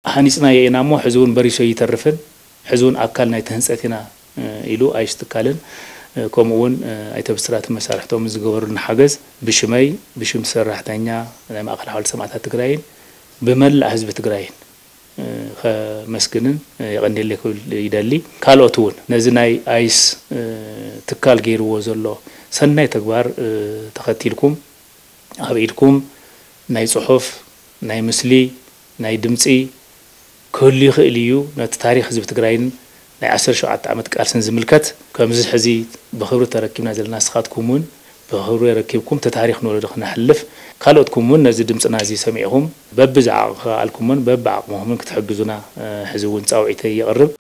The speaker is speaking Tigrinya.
ሃኒፅናዮ ኢና እሞ ሕዚ እውን በሪሱ ኣይተርፍን፣ ሕዚ እውን ኣካል ናይቲ ህንፀት ኢና ኢሉ ኣይሽ ትካልን ከምኡ እውን ኣይተ ብስራትን መሳርሕቶም ዝገበሩልና ሓገዝ ብሽመይ፣ ብሽም ሰራሕተኛ ናይ ማእኸል ሓወልቲ ሰማእታት ትግራይን ብመላእ ህዝቢ ትግራይን ከመስግንን የቐንየለይ ክብል ይደሊ። ካልኦት እውን ነዚ ናይ ኣይስ ትካል ገይርዎ ዘሎ ሰናይ ተግባር ተኸቲልኩም ኣብ ኢድኩም ናይ ፅሑፍ፣ ናይ ምስሊ፣ ናይ ድምፂ ክህሉ ይኽእል እዩ። ነቲ ታሪኽ ህዝቢ ትግራይን ናይ ዓሰርተ ሸውዓተ ዓመት ቃልስን ዝምልከት ከምዚ ሕዚ ብኽብሪ ተረኪብና ዘለና ንስኻትኩም እውን ብኽብሪ ረኪብኩም እቲ ታሪኽ ንወለዶ ክነሕልፍ ካልኦትኩም እውን ነዚ ድምፅና እዚ ሰሚዕኹም በብዝዓቕምኹምን በብዓቕምኹምን ክትሕግዙና ሕዚ እውን ፃውዒተይ የቕርብ።